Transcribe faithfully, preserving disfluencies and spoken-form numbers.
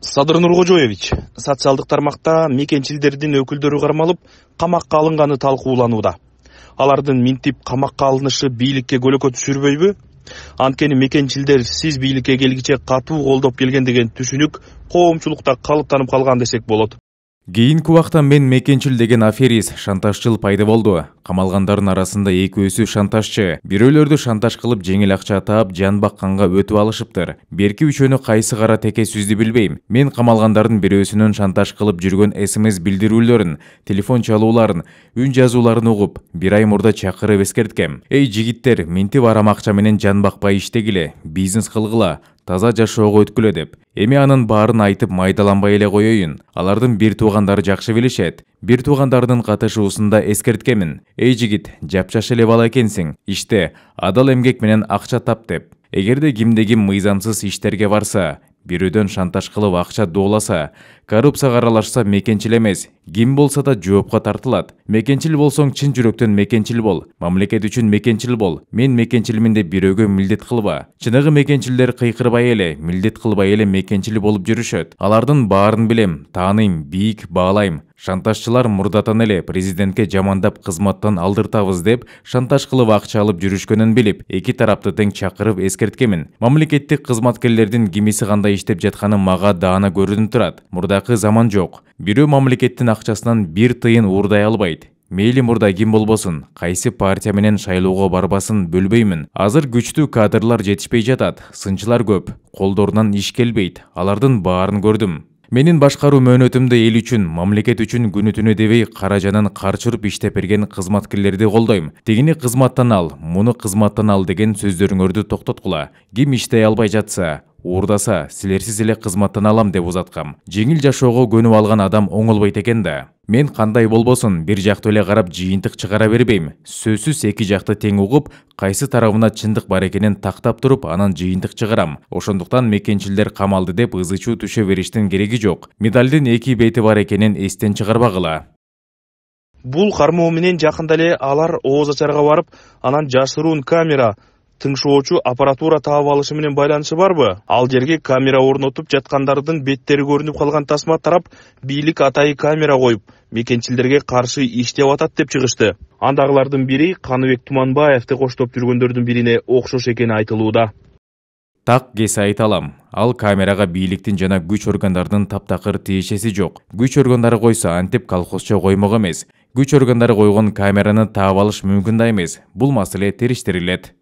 Садыр Нуркожоевич, социалдык тармакта мекенчилдердин өкүлдөрү кармалып, камакка алынганы талкууланууда. Алардын минтип камакка алынышы бийликке көлөкө түшүрбөйбү? Анткени мекенчилдер сиз бийликке келгиче катуу колдоп келген деген түшүнүк коомчулукта калыптанып калган десек болот. Кийинки убакта мен мекенчил деген аферист, шантажчыл пайда болду. Камалгандардын арасында экөөсү шантажчы. Бирөөлөрдү шантаж кылып жеңил акча таап, жан бакканга өтүп алышыптыр. Берки үчөөнү кайсы кара теке сүздү билбейм. Мен камалгандардын бирөөсүнүн шантаж кылып жүргөн смс билдирүүлөрүн, телефон чалууларын, үн жазууларын угуп, бир ай мурда чакырып эскерткем. Эй жигиттер, минтип арам акча менен жан бакпай иштегиле, бизнес кылгыла, таза жашоого өткүлө деп. Эми анын баарын айтып майдаланбай эле коеюн. Алардын бир туугандары жакшы билишет. Бир туугандарынын катышуусунда эскерткемин. Эй жигит, жапжаш эле бала экенсиң. Иште, адал эмгек менен акча тап деп. Эгерде кимде ким мыйзамсыз иштерге барса, бирөөдөн шантаж кылып акча дооласа, коррупцияга аралашса мекенчил эмес, ким болсо да жоопко тартылат. Мекенчил болсоң чын жүрөктөн мекенчил бол, мамлекет үчүн мекенчил бол. Мен мекенчилмин деп бирөөгө милдет кылба. Чыныгы мекенчилдер кыйкырбай эле, милдет кылбай эле мекенчил болуп жүрүшөт. Алардын баарын билем, тааныйм, бийик баалайм. Шантажчылар мурдатан эле президентке жамандап кызматтан алдыртабыз деп шантаж кылып акча алып жүрүшкөнүн билип, эки тарапты тең чакырып эскерткемин. Мамлекеттик кызматкерлердин кимиси кандай иштеп жатканы мага даана көрүнүп турат. Мурдакы заман жок. Бирөө мамлекеттин акчасынан бир тыйын уурдай албайт. Мейли мурда ким болбосун, кайсы партия менен шайлоого барбасын бөлбөймүн. Азыр күчтүү кадрлар жетишпей жатат, сынчылар көп, колдорунан иш келбейт. Алардын баарын көрдүм. Менин башкаруу мөөнөтүмдө эл үчүн, мамлекет үчүн күнү түнү дебей кара жанын карчырып иштеп берген кызматкерлерди колдойм. Тигини кызматтан ал, муну кызматтан ал деген сөздөрүңөрдү токтоткула. Ким иштей албай жатса, уурдаса, силерсиз эле кызматтан алам деп узаткам. Жеңил жашоого көнүп алган адам оңолбойт экен да. Мен кандай болбосун, бир жактуу эле карап жыйынтык чыгара бербейм. Сөзсүз эки жакты тең угуп, кайсы тарабына чындык бар экенин тактап туруп, анан жыйынтык чыгарам. Ошондуктан мекенчилдер камалды деп ызы-чуу түшө бериштин кереги жок. Медалдын эки бети бар экенин эстен чыгарбагыла. Бул кармоо менен жакында эле алар ооз ачарга барып, анан жашыруун камера, тыңшоочу аппаратура таап алышы менен байланышы барбы? Ал жерге камера орнотуп жаткандардын беттери көрүнүп калган тасма тарап, бийлик атайы камера коюп, мекенчилдерге каршы иштеп атат деп чыгышты. Андагылардын бири Каныбек Туманбаевди коштоп жүргөндөрдүн бирине окшош экени айтылууда. Так кесе айта алам. Ал камерага бийликтин жана күч органдарынын таптакыр тиешеси жок. Күч органдары койсо антип колхозчо коймок эмес. Күч органдары койгон камераны таап алыш мүмкүн да эмес. Бул маселе териштирилет.